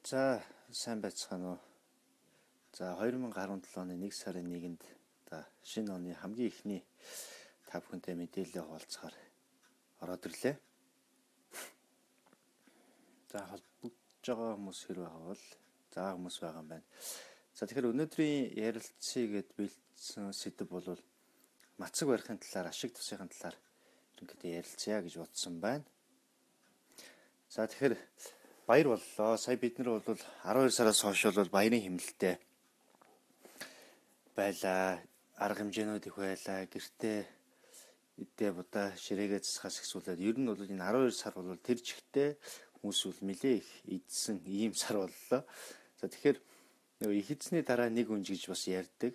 За сайн байцгаана уу. За 2017 оны 1 сарын 1-нд шинэ оны хамгийн ихний та бүхэнтэй мэдээлэл хуваалцахаар ороод ирлээ. За холбогдож байгаа хүмүүс хэрвээ хавал хүмүүс байгаа юм байна. За тэгэхээр өнөөдрийн ярилцъя гэд бэлдсэн сэдэв бол мацаг барихын талаар, ашиг тусахын талаар ерөнхийдөө ярилцъя гэж бодсон байна. За тэгэхээр баяр боллоо. Сая бид нар бол 12 сараас хойш бол баярын хэмнэлтэд байлаа. Арга хэмжээнүүд их байлаа. Гэртээ эдээ будаа ширээгээ засахаас ихсүүлээд ер нь бол энэ 12 сар бол тэр чигтээ хүмүүс бол нэлээ их идсэн ийм сар боллоо. За тэгэхээр нөгөө их эзний дараа нэг үнж гэж бас ярьдаг.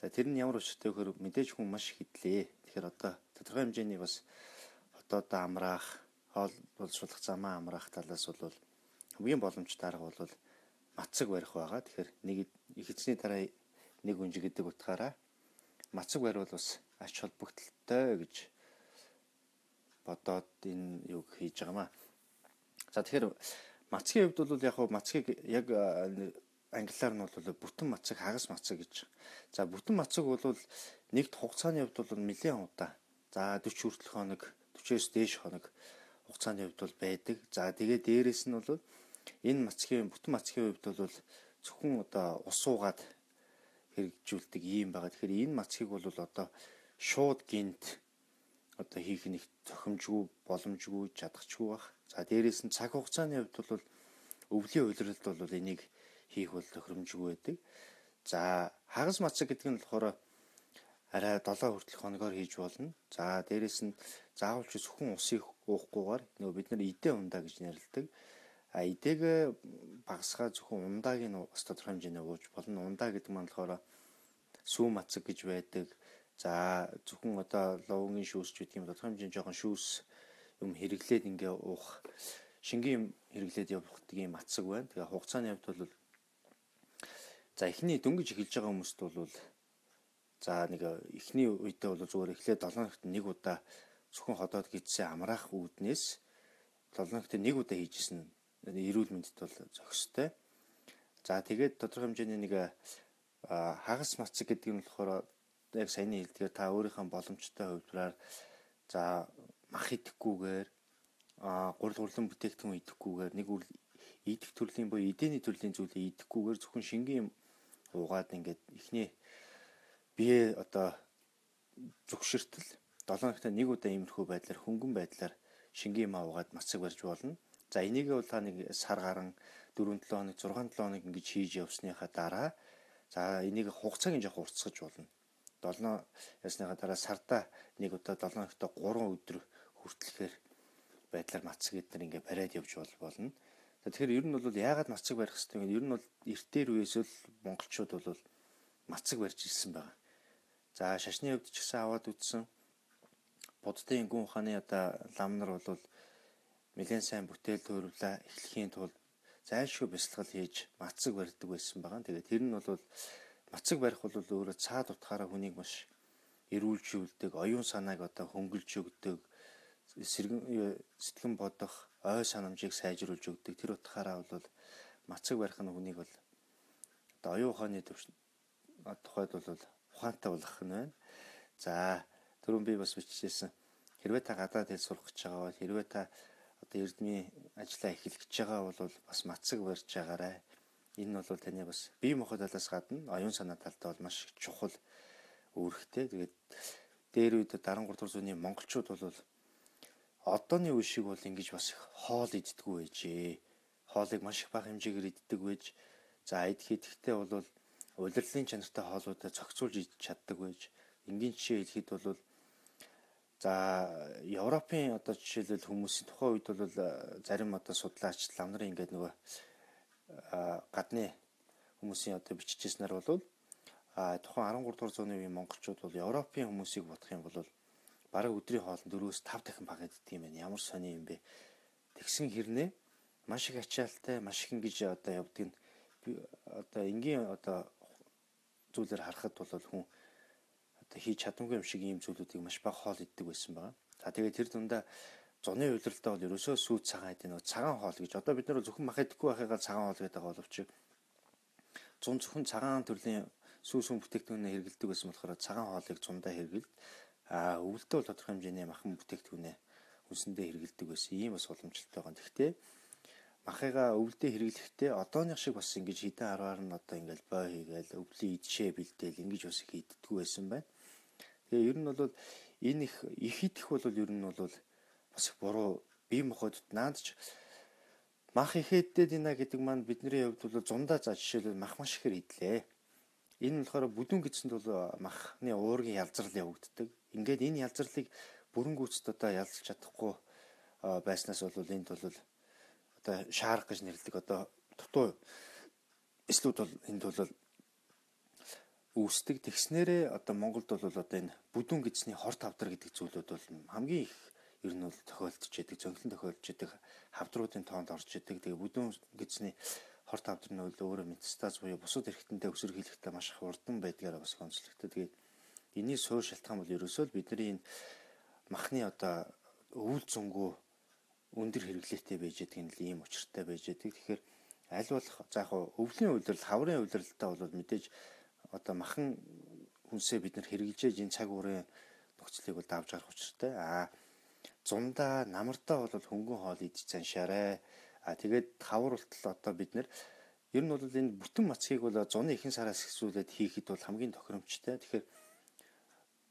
За тэр нь ямар учиртай вэ гэхээр мэдээж хүн маш их идлээ. Тэгэхээр одоо тодорхой хэмжээний бас хотод амраах, хоол боловсруулах замаа амраах талаас бол хамгийн боломжтой арга бол мацаг барих байгаа. Тэгэхээр нэг их эзний дараа нэг үнж гэдэг утгаараа мацаг барь бол бас ач холбогдолтой гэж бодоод энэ юг хийж байгаамаа. За тэгэхээр мацгийн хувьд бол яг мацгийг яг англиар нь бол бүтэн мацаг, хагас мацаг гэж. За бүтэн мацаг бол нэгд хугацааны хувьд бол нэлээд удаа. За 40 хүртэл хоног, 40-оос дээш хоног хугацааны хувьд бол байдаг. За тэгээ дээрэс нь бол энэ мацгийн бүтэн мацгийн хувьд бол зөвхөн одоо ус уугаад хэрэгжүүлдэг юм байгаа. Тэгэхээр энэ мацгийг бол одоо шууд гинт одоо хийх нэг зохимжгүй, боломжгүй, чадахчгүй баг. За дээрээс нь цаг хугацааны хувьд бол өвлийн улиралд бол энийг хийх бол тохиромжгүй байдаг. За хагас мацаг гэдэг нь болохоор арай 7 хүртэлх хоногоор хийж болно. За дээрээс нь заавал ч зөвхөн усыг уухгүйгээр нөгөө бид нар идэ ундаа гэж нэрлэдэг. Идээг багасгаа зөвхөн ундааг нь бас тодорхой хэмжээний ууж болно. Ундаа гэдэг нь болохоор сүү мацаг гэж байдаг. За зөвхөн одоо ловгийн шүүс ч гэдэг юм тодорхой хэмжээний жоохон шүүс юм хэрэглээд ингээ уух, шингийн хэрэглээд явуулдаг юм мацаг байна. Тэгээ хугацааны хувьд бол за эхний дөнгөж эхэлж байгаа хүмүүст бол за нэг эхний үедээ бол зүгээр эхлээд 7 хоногт нэг удаа зөвхөн ходоод гидсэн амраах үүднээс 7 хоногт нэг удаа хийжсэн эрүүл мэндэд бол зохистой. За тэгээд тодорхой хэмжээний нэг хагас мацаг гэдэг нь болохоор яг саяны хэлдгээр та өөрийнхөө боломжтой хувьдраар за мах идэхгүйгээр гурилан бүтээгдэхүүн идэхгүйгээр нэг үл идэх төрлийн буюу эдэний төрлийн зүйлээ идэхгүйгээр зөвхөн шингийн уугаад ингээд эхний бие одоо зөвшөртөл 7 хоногт нэг удаа иймэрхүү байдлаар хөнгөн байдлаар шингийн маа уугаад мацаг барьж болно. За энийг бол та нэг сар гарan 4-7 хоног 6-7 хоног ингэж хийж явсныхаа дараа за энийг хугацааг нь жоох уртсгаж болно. 7 ясныхаа дараа сарда нэг удаа 7 хоногт 3 өдөр хүртэлхээр байдлаар мацаг эднэр ингээ бариад явж болно. Тэгэхээр ер нь бол яагаад мацаг барих хэрэгтэй вэ? Ер нь бол эртээр үеэс л монголчууд бол мацаг барьж ирсэн байгаа. За шашны хувьд ч гэсэн аваад үзсэн. Буддын гүн ухааны одоо лам нар бол нэлээд сайн бүтээл төрүүлээ эхлэхийн тулд зайлшгүй бясалгал хийж мацаг барьдаг байсан байгаа. Тэгээд тэр нь бол мацаг барих бол өөрөө цаад утгаараа хүнийг маш эрүүлжүүлдэг, оюун санааг одоо хөнгөлж өгдөг, сэтгэн бодох, ой санамжийг сайжруулж өгдөг. Тэр утгаараа бол мацаг барих нь хүнийг бол одоо оюун ухааны тухайд бол ухаантай болгох нь байна. За түрүүн би бас бичижсэн. Хэрвээ та гадаад хэл сурах гэж байгаа бол хэрвээ та одоо эрдмийн ажлаа эхлэх гэж байгаа бол бас мацаг барьж байгаарай. Энэ бол таны бас бие махбод талаас гадна оюун санаа талтай бол маш чухал үүрэгтэй. Тэгээд дээр үед 13 дугаар зууны монголчууд бол одооны үе шиг бол ингэж бас хоол иддэггүй байжээ. Хоолыг маш их бага хэмжээгээр иддэг байж. За идэхдээ бол улирлын чанартай хоолуудаа зохицуулж идэж чаддаг байж. Энгийн жишээ хэлэхэд бол за Европын одоо жишээлбэл хүмүүсийн тухайн үед бол зарим одоо судлаач лам нарын ингээд нөгөө гадны хүмүүсийн одоо бичижсэнээр бол тухайн 13 дугаар зууны үеийн монголчууд бол Европын хүмүүсийг бодох юм бол бараг өдрийн хоолнд 4-5 дахин бага иддэг юм байна. Ямар сони юм бэ? Тэгсэн хэрнээ маш их ачаалтай, маш их ингэж одоо явдаг нь одоо энгийн одоо зүйлээр харахад бол хүн одоо хийж чадамгүй юм шиг ийм зүйлүүдийг маш бага хоол иддэг байсан байна. За тэгээд тэр дундаа зуны удирдалтаа бол ерөөсөө сүйт цагаан гэдэг нэг цагаан хоол гэж. Одоо бид нар зөвхөн мах идэхгүй байхыгаа цагаан хоол гэдэг боловч зөвхөн цагаан төрлийн сүүс хүн бүтээгдэхүүнээ хэрэглэдэг байсан болохоор цагаан хоолыг зундаа хэрэглэв. Өвөлдөө бол тодорхой хэмжээний махан бүтээгдэхүүнээ хүнсэндээ хэрэглэдэг байсан. Ийм бас боломжтой байгаа. Гэхдээ махыгаа өвөлдөө хэрэглэхдээ одооных шиг бас ингэж хідэн арваар нь одоо ингээл бой хийгээл өвлийн идшээ бэлдээл ингэж бас хийддэггүй байсан байна. Тэгээ ер нь бол энэ их идэх бол ер нь бол бас их буруу бие махбодд наадч мах ихэддээд ийна гэдэг маань бидний хувьд бол зундаа за жишээлбэл мах маш ихээр идлээ. Энэ болохоор бүдүүн гэсэнд бол махны уургийн ялзрал явагддаг. Ингээд энэ ялзралыг бүрэн гүйцэд одоо ялзж чадахгүй байснаас бол энд бол одоо шаарах гэж нэрлэдэг одоо дутуу эслүүд бол энд бол үүсдэг. Тэгснээрээ одоо Монголд бол одоо энэ бүдүүн гэсний хорт хавдар гэдэг зүйлүүд бол хамгийн их ер нь бол тохиолдож байдаг, зөнхлөн тохиолдож байдаг хавдруудын тоонд орж идэг. Тэгээ бүдүүн гэсний хорт хавдар нь өөрөө метастаз буюу бусад эрхтэнтэй өсвөр хийлгэхдээ маш их урдан байдгаараа бас онцлогддог. Тэгээ энэний суур шалтгаан бол ерөөсөө л бидний энэ махны одоо өвөл зөнгөө өндөр хэрэглээтэй байж байгаа нь ийм учиртай байж байгаа. Тэгэхээр аль болох за яг өвлийн удирдал, хаврын удирдалтаа бол мэдээж одоо махан хүнсээ бид нар хэрэгжилж энэ цаг уурын нөхцөлийг бол давж гарах учиртай. Зундаа намартаа бол хөнгөн хоол идэж заншаарай. Тэгээд хавар болтол одоо бид нар ер нь бол энэ бүтэн мацгийг бол зуны ихэнх сараас эхлүүлээд хийхэд бол хамгийн тохиромжтой. Тэгэхээр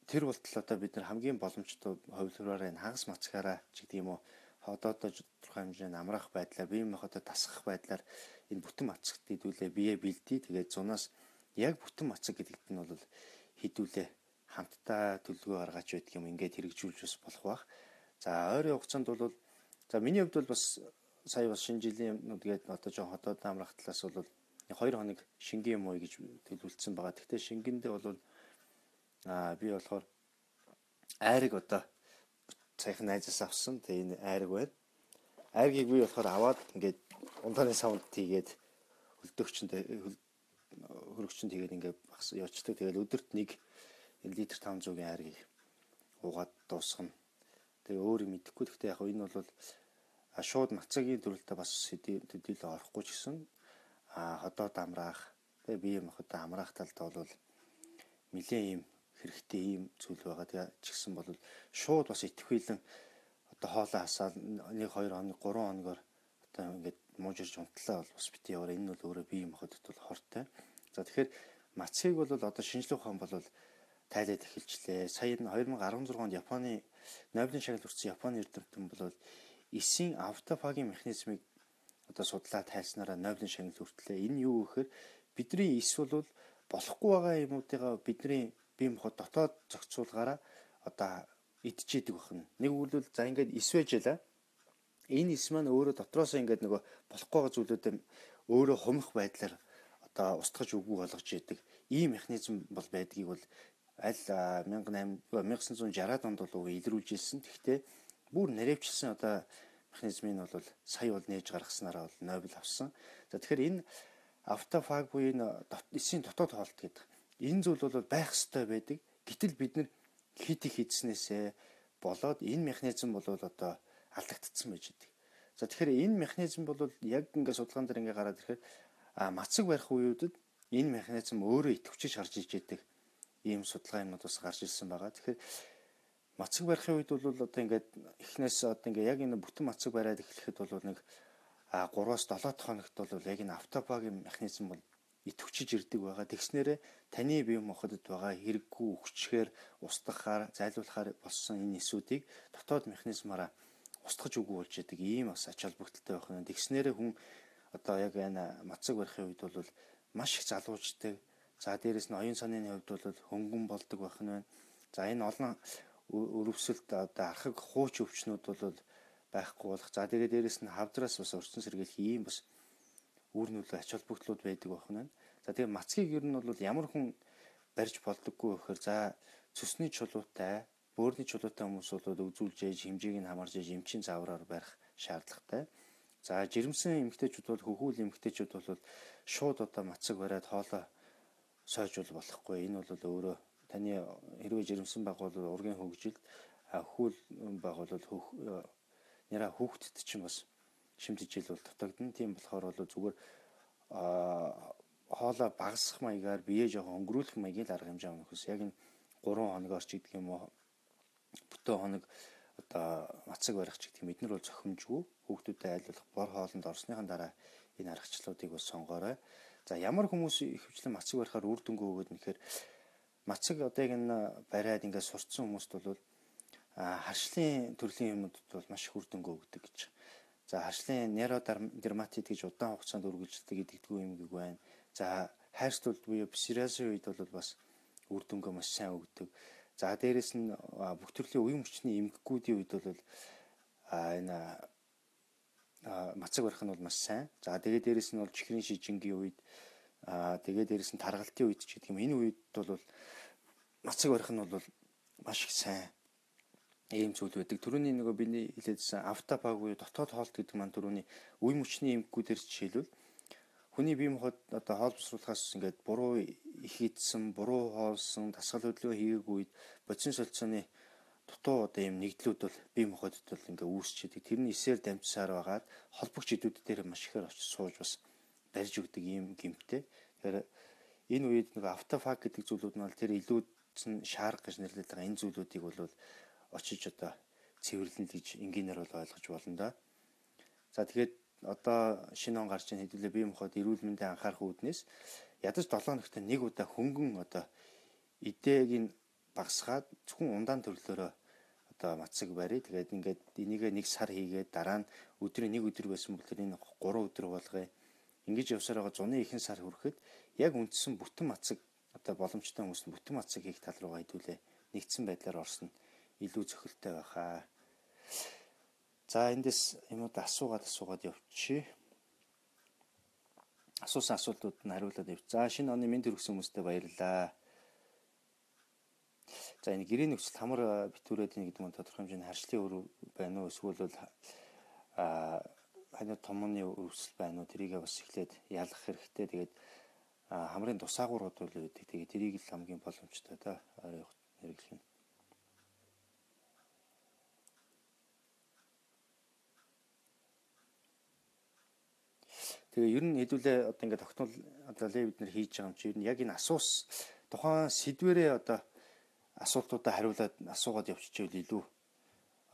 тэр болтол одоо бид нар хамгийн боломжтой хувилбараар энэ хагас мацгаараа ч гэдэг юм уу одоо тодорхой хэмжээний амраах байдлаар бие махбодоо тасгах байдлаар энэ бүтэн мацагт хэдүүлээ бие бэлдээ. Тэгээд зунаас яг бүтэн мацаг гэдэгт нь бол хэдүүлээ хамтдаа төлөвлөгөө гаргаж байдаг юм ингээд хэрэгжүүлж бас болох байх. За ойрын хугацаанд бол за миний хувьд бол бас сая бас шинэ жилийн юмнууд гээд одоо жоо хотод амрах талаас бол 2 хоног шингийн юм уу гэж төлөвлөсөн байгаа. Гэхдээ шингэндээ бол би болохоор айрыг одоо саяхан найзаас авсан. Тэгээ энэ айрыг байна. Айргийг би болохоор аваад ингээд ундааны савнд тийгээд хөрөгчөнд тэгээд ингээд багс явуулдаг. Тэгээд өдөрт 1 литр 500-ийн айргийг уугаад дуусгана. Тэгээ өөр юм идэхгүй. Гэхдээ яг энэ бол шууд мацагийн төрөлтөд бас төдийлө орохгүй ч гэсэн ходоод амраах тэгээ бие махбодоо амраах талд бол нэлээд юм хэрэгтэй юм зүйл байгаа. Тэгээ ч гэсэн бол шууд бас итгэхүйлэн одоо хоолоо хасаад 1 2 хоног 3 хоногор одоо ингээд муужирч унтлаа бол бас бити яваа. Энэ бол өөрөө бие махбодод бол хортой. За тэгэхээр мацгийг бол одоо шинжлэх ухаан бол тайлаад эхэлжлээ. Сая 2016 онд Японы Нобелийн шагнал хүртсэн Японы эрдэмтэн бол эсийн автофагийн механизмыг одоо судлаад тайлснараа Нобелийн шагнал хүртлээ. Энэ юу гэхээр бидний эс бол болохгүй байгаа юмуудыгаа бидний бие махбод дотоод зохицуулгаараа одоо идчихэдэг байна. Нэг үгэл за ингээд эс байж ялаа. Энэ эс маань өөрөө дотроос ингээд нөгөө болохгүй байгаа зүйлүүдэд өөрөө хумих байдлаар одоо устгаж үгүй болгож яадаг. Ийм механизм бол байдгийг бол аль 1960-аад онд бол илрүүлж ирсэн. Гэхдээ бүр наривчилсан одоо механизмыг бол сая бол нээж гаргаснараа бол Нобель авсан. За тэгэхээр энэ автофаг буюу энэ эсийн дотоод хоолт гэдэг энэ зүйл бол байх ёстой байдаг. Гэтэл бид нар хит их хийснээсээ болоод энэ механизм бол одоо алдагдсан байж байгаа. За тэгэхээр энэ механизм бол яг ингээд судалгаан дээр ингээд гараад ирэхээр мацаг барих үеүүдэд энэ механизм өөрөө идэвхжиж харж иж яадаг ийм судалгаа юмнууд бас гарч ирсэн байгаа. Тэгэхээр мацаг барихын үед бол одоо ингээд эхнээс одоо ингээд яг энэ бүтэн мацаг бариад эхлэхэд бол нэг 3-7 хоногт бол яг энэ автопагийн механизм бол идэвхжиж ирдэг байгаа. Тэгснээрээ таны бие махбодод байгаа хэрэггүй өвчгээр устгахаар зайлуулахаар болсон энэ эсүүдийг дотоод механизмаараа устгаж үгүй болж яадаг ийм бас ач холбогдолтой байх нь. Тэгснээрээ хүн одоо яг энэ мацаг барихын үед бол маш их залууждаг. За дээрэс нь оюун санааны хувьд бол хөнгөн болдог байх нь байна. За энэ олон өрөвсөлд одоо архаг хууч өвчнүүд бол байхгүй болох. За тэгээд дээрэс нь хавдраас бас өрцөн сэргийлэх ийм бас үр нөлөө ач холбогдлууд байдаг байх нь байна. За тэгээд мацгийг ер нь бол ямар хүн барьж болдоггүй гэхээр за цөсний чулуутай, бөөрийн чулуутай хүмүүс бол үзүүлж ээж хэмжээг нь хамарж ээж эмчийн заавраар барих шаардлагатай. За жирэмсэн эмэгтэйчүүд бол хөхүүл эмэгтэйчүүд бол шууд одоо мацаг бариад хоолоо сойж болохгүй. Энэ бол өөрөө таны хэрвээ жирэмсэн баг бол ургийн хөгжилд хөхүүл баг бол нэраа хүүхдэд чинь бас шимтгийл бол дутагдана. Тийм болохоор бол зүгээр хоолоо багасгах маягаар бие жоохон өнгөрүүлэх маягийн л арга хэмжээ авах хүс. Яг энэ 3 хоногоор ч гэдэг юм уу бүтэн хоног одоо мацаг барих ч гэдэг эднэр бол зохимжгүй. Хүүхдүүдэд айлуулах бор хоолнд орсныхан дараа энэ аргачлалуудыг бас сонгоорой. За ямар хүмүүс ихэвчлэн мацаг барихаар үр дүнгүй өгöd нэхэр мацаг одоо яг энэ бариад ингээд сурцсан хүмүүст бол харшлын төрлийн юмнуудад бол маш их үр дүнгүй өгдөг гэж. За харшлын нейродерматит гэж удаан хугацаанд үргэлжилдэг гэдэгдгүй юм гийг байна. За хайрцуулт буюу псориазийн үед бол бас үр дүнгээ маш сайн өгдөг. За дээрэс нь бүх төрлийн уян хүчний эмгэгүүдийн үед бол энэ мацаг барих нь бол маш сайн. За тэгээд дээрэс нь бол чихрийн шижингийн үед тэгээд дээрэс нь таргалтын үед ч гэдэг юм. Энэ үед бол мацаг барих нь бол маш их сайн ийм зүйл байдаг. Түрүүний нөгөө биний хэлээдсэн автопаг буюу дотоод хоолт гэдэг маань түрүүний уян хүчний эмгэгүүдээр жишээлбэл хүний бие махбод одоо хоол босруулахаас ингээд буруу их идсэн, буруу хоолсон, дасгал хөдөлгөөн хийгээгүй үед бодис солилцооны дутуу одоо ийм нэгдлүүд бол бие махбодд бол ингээд үүсчихэд тэрний эсээр дамжсаар байгаад холбогч идүүд дээр маш ихээр очиж сууж бас барьж өгдөг ийм гэмтээ. Тэгэхээр энэ үед нөгөө автофаг гэдэг зүйлүүд нь бол тэр илүүдсэн шаарга гэж нэрлэдэг байгаа энэ зүйлүүдийг бол очиж одоо цэвэрлэн гэж энгийнээр бол ойлгож болно да. За тэгээд одоо шинэ он гарч ийн хэдүүлээ бие махбод эрүүл мэндийн анхаарах үүднээс ядаж 7 хоногт нэг удаа хөнгөн одоо эдээг нь багасгаад зөвхөн ундаан төрлөөрөө одоо мацаг барь. Тэгээд ингээд энийг 1 сар хийгээд дараа нь өдрийн 1 өдөр байсан бол тэр энэ 3 өдөр болгоё. Ингэж явсаар байгаа зуны ихэнх сар хүрэхэд яг үндсэн бүтэн мацаг одоо боломжтой хүмүүс нь бүтэн мацаг хийх тал руугаа хэдүүлээ нэгдсэн байдлаар орсон илүү зохилтой байхаа. За эндээс юмуд асуугаад явчих. Асуусан асуултууд нь хариулаад явчих. За шинэ оны мэд хүргэсэн хүмүүстээ баярлалаа. За энэ гэрээ нөхцөлд хамар битүүрээд нэг гэдэг нь тодорхой хэмжээний харшлын өр байна уу эсвэл бол ханиу томооны өрсөл байна уу тэрийг бас эхлээд ялгах хэрэгтэй. Тэгээд хамрын тусаагуурууд бол үүдэг. Тэгээд тэрийг л хамгийн боломжтой да хэрэглэх нь. Тэгээ ер нь хэдүүлээ одоо ингээд тогтмол одоо бид нэр хийж байгаа юм чи ер нь яг энэ тухайн сэдвэрээ одоо асуултуудаа хариулаад асуугаад явчихвэл илүү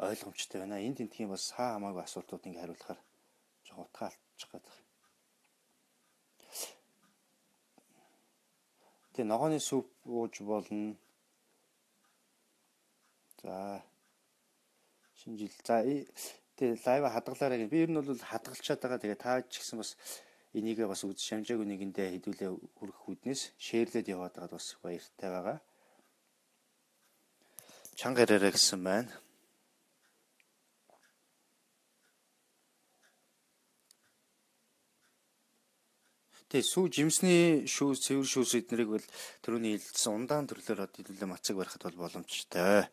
ойлгомжтой байна. Энд тентхийн бас хамаагүй асуултууд ингээд хариулахаар жоо утгаа алдчих гээд байна. Тэгээ ногооны сүп ууж болно. За шинэ жил тэгээ лайв хадгалаарай гэх. Би ер нь бол хадгалчаад байгаа. Тэгээ та ч гэсэн бас энийгээ бас үз шамжаагүй нэгэндээ хэдүүлээ хүргэх үүднээс шеэрлээд яваад байгаад бас баяртай байгаа. Чанга яраарай гэсэн байна. Тэгээ сүү жимсний шүүс, цэвэр шүүс эднэрийг бол түрүүний хэлсэн ундаан төрлөөр хэдүүлээ мацаг барихад бол боломжтой.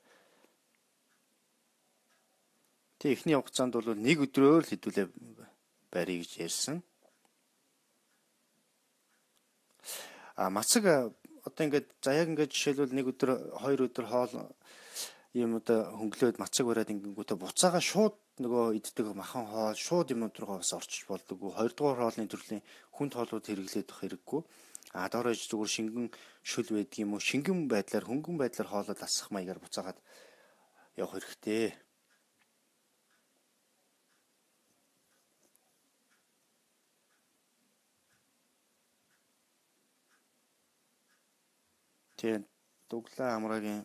Тэгээ эхний хугацаанд бол 1 өдрөөр л хэдүүлээ барья гэж ярьсан. Мацаг одоо ингээд за яг ингээд жишээлбэл 1 өдөр 2 өдөр хоол юм одоо хөнгөлөөд мацаг бариад ингэнгүүтээ буцаага шууд нөгөө иддэг махан хоол шууд юмнууд руугаа бас орчиж болдог. 2 дугаар хоолны төрлийн хүнд хоолууд хэрэглээд байх хэрэггүй. Доорож зүгээр шингэн шүл байдаг юм уу? Шингэн байдлаар хөнгөн байдлаар хоолоо тасах маягаар буцаагаад явах хэрэгтэй. Тэгээд дуглаа амраагийн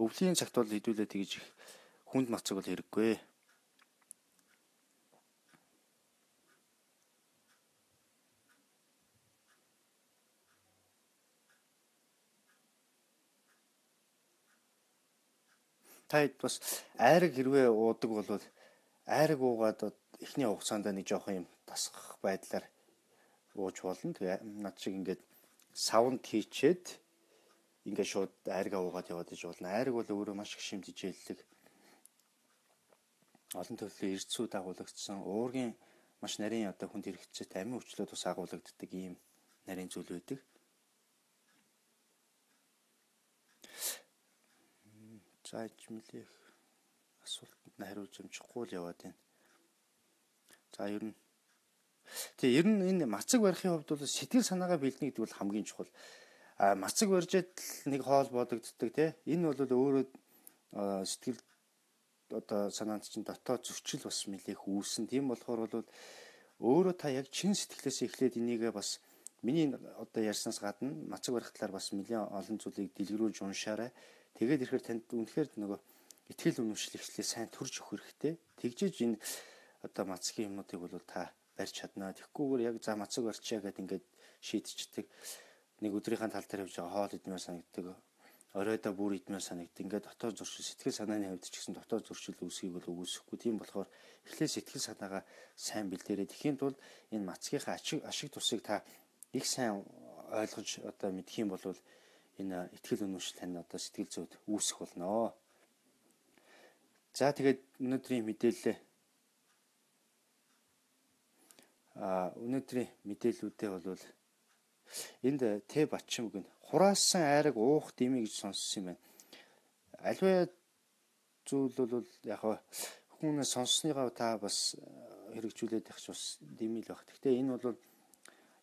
өвлийн цагт бол хэдүүлээ тэгж их хүнд мацаг бол хэрэггүй. Таад бас айраг хэрвээ уудаг бол айраг уугаад эхний хугацаанд нэг жоохон юм тасгах байдлаар ууж болно. Тэгээ над шиг ингээд савнд хийчээд ингээд шууд айргаа уугаад яваад иж болно. Айраг бол өөрөө маш их шимтэж хэллэг. Олон төрлийн эрдэсүүд агуулгдсан уургийн маш нарийн одоо хүнд хэрэгцээтэй амин өвчлөд бас агуулгддаг ийм нарийн зүйл байдаг. За ичмэлэх асуулт хариулж амжихгүй л яваад байна. За ер нь ер нь энэ мацаг барихын хувьд бол сэтгэл санаагаа бэлдэнэ гэдэг бол хамгийн чухал. Мацаг барьжээд нэг хоол бодогддог тий. Энэ бол өөрөө сэтгэл одоо санаанд чинь дотоод зөрчил бас нэлээх үүсэн. Тийм болохоор бол өөрөө та яг чин сэтгэлээс эхлээд энийгээ бас миний одоо ярьснаас гадна мацаг барих талаар бас нэлээд олон зүйлийг дэлгэрүүлж уншаарай. Тэгээд ирэхээр танд үнэхээр нөгөө итгэл үнэмшил ихлээр сайн төрж өгөх хэрэгтэй. Тэгжиж энэ одоо мацгийн юмнуудыг бол та барьж чаднаа. Тэгэхгүйгээр яг за мацаг барьчаа гэдээ ингээд шийдчихдэг. Нэг өдрийнхаа тал дээр явж байгаа хоол идмээр санагддаг. Оройдоо бүр идмээр санагддаг. Ингээд дотоод зуршил сэтгэл санааны хувьд ч гэсэн дотоод зуршил үүсгийг бол үүсэхгүй. Тийм болохоор эхлээд сэтгэл санаагаа сайн бэлдээрэй. Тэхийн тулд энэ мацгийнхаа ашиг тусыг та их сайн ойлгож одоо мэдэх юм бол энэ итгэл үнэмшил тань одоо сэтгэл зүйд үүсэх болно. За тэгээд өнөөдрийн мэдээлэл өнөөдрийн мэдээллүүдээ бол энд Тэ Батчимг нь хураасан айраг уух дими гэж сонссон юм байна. Аливаа зүйл бол яг хүмүүнээ сонссныгаа та бас хэрэгжүүлээд явах бас дими л баг. Гэхдээ энэ бол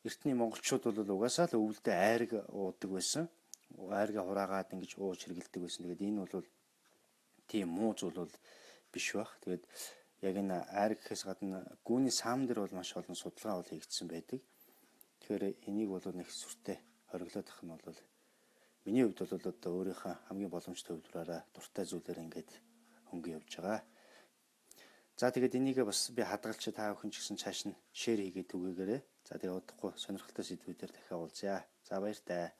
эртний монголчууд бол угаасаа л өвөлдөө айраг уудаг байсан. Айргаа хураагаад ингэж ууж хэргэлдэг байсан. Тэгээд энэ бол тийм муу зүйл бол биш баг. Тэгээд яг энэ айраг гэхээс гадна гүүний саам дээр бол маш олон судалгаа бол хийгдсэн байдаг. Тэгэхээр энийг бол нэг сүртэй хориглоод ах нь бол миний хувьд бол одоо өөрийнхөө хамгийн боломжтой хувьдраараа дуртай зүйлээр ингээд хөнгөн явж байгаа. За тэгээд энийгээ бас би хадгалж та бүхэн ч гэсэн цааш нь шеэр хийгээд түгээгээрэй. За тэгээд удахгүй сонирхолтой сэдвүүдээр дахиад уулзъя. За баяр таа.